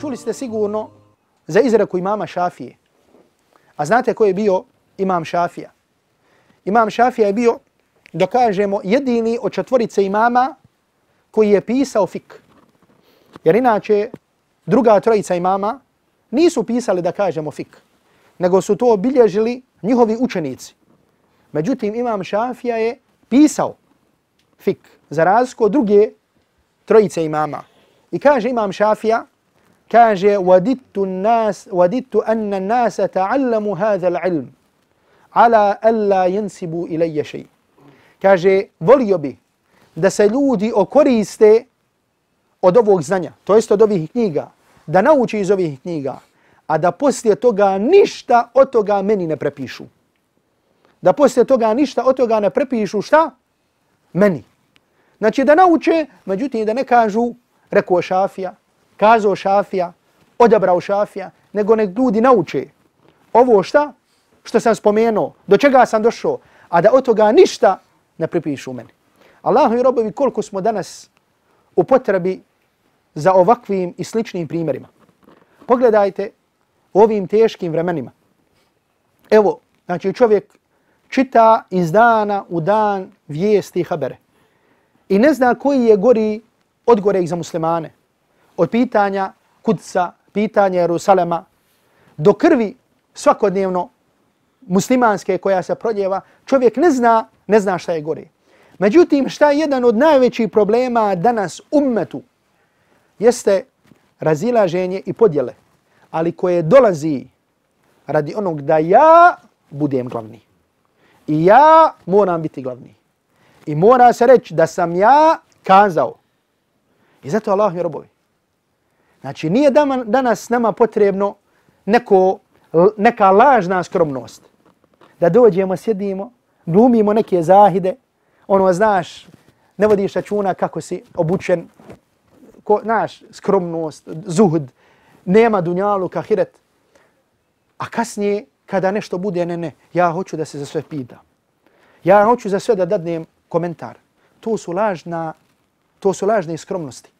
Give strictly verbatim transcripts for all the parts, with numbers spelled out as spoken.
čuli ste sigurno za izreku imama Šafije. A znate ko je bio imam Šafija? Imam Šafija je bio, da kažemo, jedini od četvorice imama koji je pisao fik. Jer inače, druga trojica imama nisu pisali, da kažemo, fik, nego su to obilježili njihovi učenici. Međutim, imam Šafija je pisao fik za razliku od druge trojice imama. I kaže imam Šafija, kaže وَدِدْتُ النَّاسِ وَدِدْتُ أَنَّ النَّاسَ تَعَلَّمُوا هَذَا الْعِلْمِ عَلَى أَلَّا يَنْسِبُوا إِلَيَّ شَيْءٍ. Kaže, volio bi da se ljudi okoriste od ovog znanja, to jest od ovih knjiga, da nauči iz ovih knjiga, a da poslije toga ništa od toga meni ne prepišu. Da poslije toga ništa od toga ne prepišu šta? Meni. Znači da nauče, međutim da ne kažu rekao Šafija, kazao Šafija, odabrao Šafija, nego nek ljudi nauče ovo šta? Što sam spomenuo, do čega sam došao, a da od toga ništa ne prepišu meni. Allahovi robovi, koliko smo danas u potrebi za ovakvim i sličnim primjerima. Pogledajte u ovim teškim vremenima. Evo, znači čovjek čita iz dana u dan vijesti i habere i ne zna koji je gori od goreg za muslimane. Od pitanja Kudsa, pitanja Jerusalema, do krvi svakodnevno muslimanske koja se proljeva, čovjek ne zna, ne zna šta je gore. Međutim, šta je jedan od najvećih problema danas ummetu jeste razilaženje i podjele, ali koje dolazi radi onog da ja budem glavni. I ja moram biti glavni. I mora se reći da sam ja kazao. I zato Allah mi robovi. Znači, nije danas nama potrebno neko, neka lažna skromnost. Da dođemo, sjedimo, glumimo neke zahide, ono, znaš, ne vodiš računa kako si obučen, ko, znaš, skromnost, zuhd, nema dunjalu, kahiret. A kasnije, kada nešto bude, ne, ne, ja hoću da se za sve pita. Ja hoću za sve da dadnem komentar. To su lažna, to su lažne skromnosti.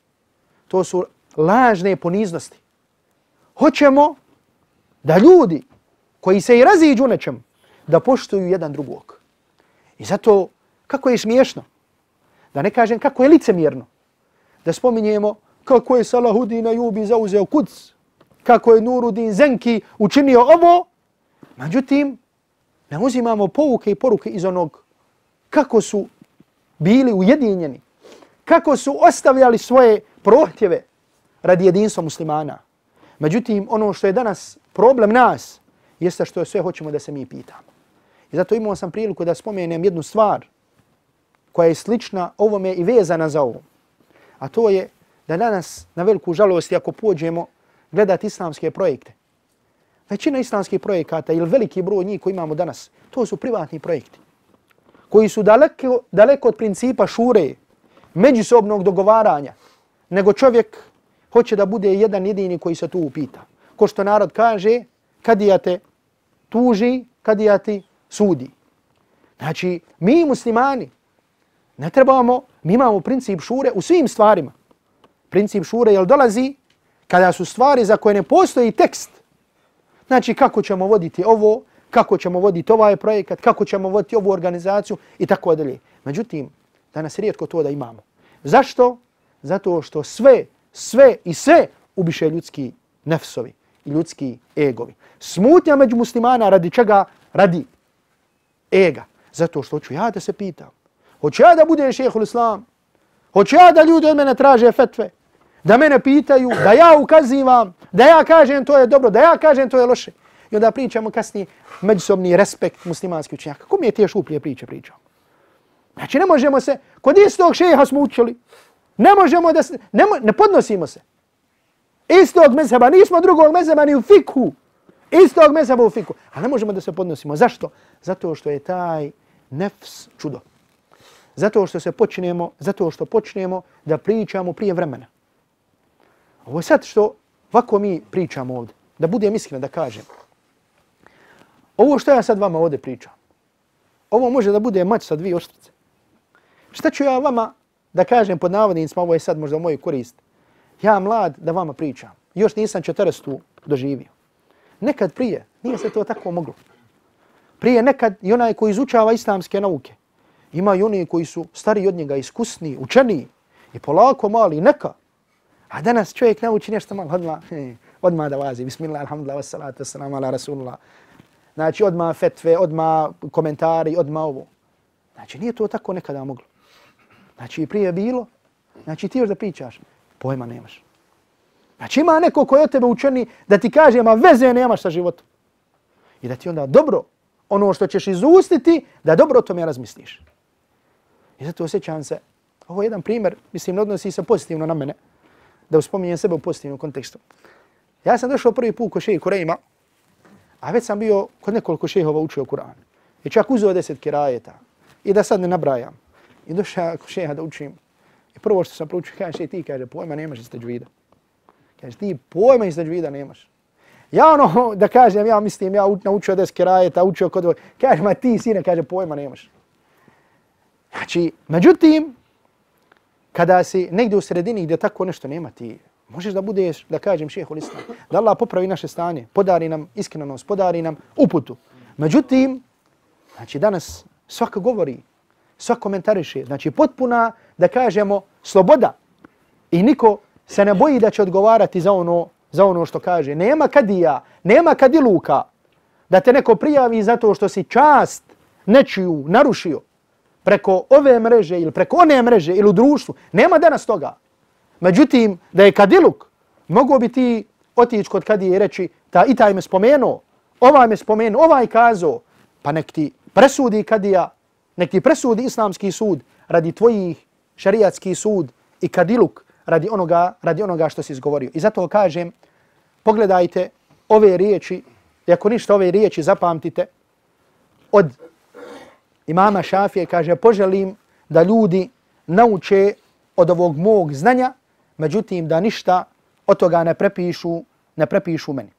To su lažne poniznosti. Hoćemo da ljudi koji se i raziđu nečem, da poštuju jedan drugog. I zato, kako je smiješno, da ne kažem kako je licemjerno, da spominjemo kako je Salahuddin Ajubi zauzeo Kuds, kako je Nuruddin Zenki učinio ovo, međutim, ne uzimamo pouke i poruke iz onog kako su bili ujedinjeni, kako su ostavljali svoje prohtjeve radi jedinstva muslimana. Međutim, ono što je danas problem nas, jeste što sve hoćemo da se mi pitamo. I zato imao sam priliku da spomenem jednu stvar koja je slična ovome i vezana za ovo. A to je da danas, na veliku žalost, ako pođemo gledati islamske projekte, većina islamskih projekata ili veliki broj njih koji imamo danas, to su privatni projekti koji su daleko, daleko od principa šure, međusobnog dogovaranja, nego čovjek hoće da bude jedan jedini koji se tu upita. Ko što narod kaže, kadija te tuži, kadija ti sudi. Znači, mi muslimani ne trebamo, mi imamo princip šure u svim stvarima. Princip šure jel dolazi kada su stvari za koje ne postoji tekst. Znači, kako ćemo voditi ovo, kako ćemo voditi ovaj projekat, kako ćemo voditi ovu organizaciju i tako dalje. Međutim, danas rijetko to da imamo. Zašto? Zato što sve, sve i sve ubiše ljudski nefsovi i ljudski egovi. Smutnja među muslimana radi čega? Radi ega. Zato što hoću ja da se pitam. Hoću ja da budem šehhul islam. Hoću ja da ljudi od mene traže fetve. Da mene pitaju, da ja ukazivam, da ja kažem to je dobro, da ja kažem to je loše. I onda pričamo kasnije međusobni respekt muslimanskih učenjaka. Ko mi je te šuplje priče pričao? Znači ne možemo se, kod istog šeha smo učili, ne možemo da se, ne, ne podnosimo se. Istog mezheba, nismo drugog mezheba ni u fikhu. Istog mezheba u fikhu. A ne možemo da se podnosimo. Zašto? Zato što je taj nefs čudo. Zato što se počnemo, zato što počnemo da pričamo prije vremena. Ovo je sad što ovako mi pričamo ovdje. Da budem iskren da kažem. Ovo što ja sad vama ovdje pričam, ovo može da bude mač sa dvije oštrice. Šta ću ja vama da kažem pod navodnicima, ovo je sad možda u moju korist. Ja mlad da vama pričam. još nisam četrdesetu doživio. Nekad prije nije se to tako moglo. Prije nekad i onaj koji izučava islamske nauke, ima i oni koji su stariji od njega, iskusniji, učeniji i polako mali, neka. A danas čovjek nauči nešto malo, odmah, odmah da vazi. Bismillah, alhamdulillah, wassalatu wassalamu ala rasulullah. Znači odmah fetve, odmah komentari, odmah ovo. Znači nije to tako nekada moglo. Znači prije je bilo, znači ti još da pričaš, pojma nemaš. Znači ima neko koji od tebe učeni da ti kaže, ma veze nemaš sa životom. I da ti onda dobro, ono što ćeš izustiti, da dobro o tome razmisliš. I zato osjećam se, ovo je jedan primjer, mislim, ne odnosi se pozitivno na mene, da uspominjem sebe u pozitivnom kontekstu. Ja sam došao prvi put kod šeha Kurejma, a već sam bio kod nekoliko šehova učio Kur'an. I čak uzeo deset kirajeta. I da sad ne nabrajam. I došao kod šeha da učim. I prvo što sam proučio, kaže šeha, ti kaže, pojma nemaš iz teđvida. Kaže, ti pojma iz teđvida nemaš. Ja ono, da kažem, ja mislim, ja naučio deset kirajeta, učio kod ovo. Kaže, ma ti sine, kaže, pojma nemaš. Znači, međutim, kada si negdje u sredini gdje tako nešto nema, ti možeš da budeš, da kažem, šehol islam, da Allah popravi naše stanje, podari nam iskrenost, podari nam uputu. Međutim, znači danas svaka govori, svaka komentariše, znači potpuna, da kažemo, sloboda. I niko se ne boji da će odgovarati za ono, za ono što kaže. Nema kadija, nema kadiluka da te neko prijavi zato što si čast nečiju narušio preko ove mreže ili preko one mreže ili u društvu. Nema danas toga. Međutim, da je kadiluk, mogu bi ti otići kod kadije i reći, ta i taj me spomenuo, ovaj me spomenuo, ovaj kazao, pa nek ti presudi kadija, nek ti presudi islamski sud radi tvojih šarijatski sud i kadiluk radi onoga, radi onoga što si izgovorio. I zato kažem, pogledajte ove riječi, i ako ništa ove riječi zapamtite, od imama Šafije kaže, poželim da ljudi nauče od ovog mog znanja, međutim da ništa od toga ne prepišu, ne prepišu meni.